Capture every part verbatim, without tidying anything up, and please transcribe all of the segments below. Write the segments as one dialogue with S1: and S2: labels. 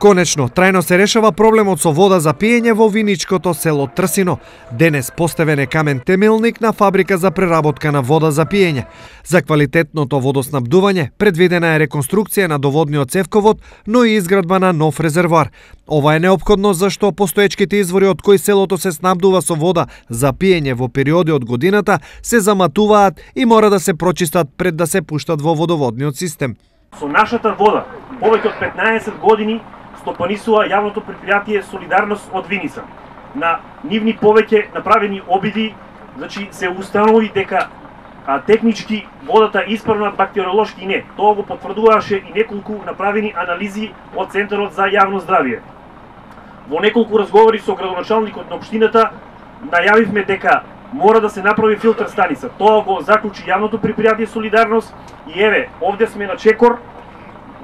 S1: Конечно, трајно се решава проблемот со вода за пиење во виничкото село Трсино. Денес поставен е камен темелник на фабрика за преработка на вода за пиење. За квалитетното водоснабдување предвидена е реконструкција на доводниот цевковод, но и изградба на нов резервоар. Ова е неопходно зашто постоечките извори од кои селото се снабдува со вода за пиење во периоди од годината се заматуваат и мора да се прочистат пред да се пуштат во водоводниот систем.
S2: Со нашата вода повеќе од петнаесет години стопанисува јавното предпријатие Солидарност од Виница. На нивни повеќе направени обиди, значи се установи дека а, технички водата исправна, бактериолошки не. Тоа го потврдуваше и неколку направени анализи од Центарот за јавно здравје. Во неколку разговори со градоначалникот на општината најавивме дека мора да се направи филтер станица. Тоа го заклучи јавното предпријатие Солидарност и еве, овде сме на чекор,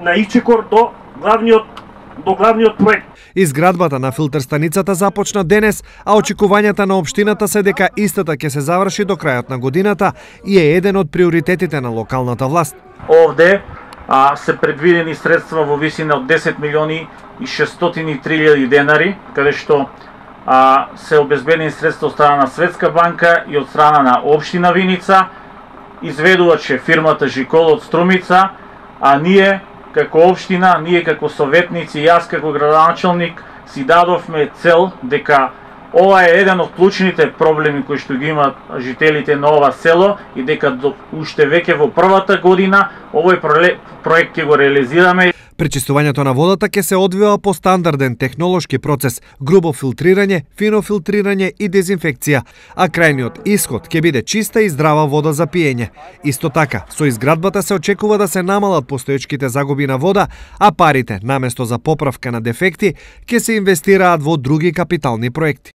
S2: на ичекор до главниот до главниот проект.
S1: Изградбата на филтер станицата започна денес, а очекувањата на општината се дека истата ќе се заврши до крајот на годината и е еден од приоритетите на локалната власт.
S3: Овде а, се предвидени средства во висина од десет милиони и шестстотини и три илјади денари, каде што а, се обезбедени средства од страна на Светска банка и од страна на општина Виница, изведуваче фирмата Жикол од Струмица, а ние како општина, ние како советници, јас како градоначалник си дадовме цел дека ова е еден од клучните проблеми кои што ги имаат жителите на ова село и дека до, уште веќе во првата година овој проект ќе го реализираме.
S1: Пречистувањето на водата ќе се одвива по стандарден технолошки процес, грубо филтрирање, фино филтрирање и дезинфекција, а крајниот исход ќе биде чиста и здрава вода за пиење. Исто така, со изградбата се очекува да се намалат постоечките загуби на вода, а парите, наместо за поправка на дефекти, ќе се инвестираат во други капитални проекти.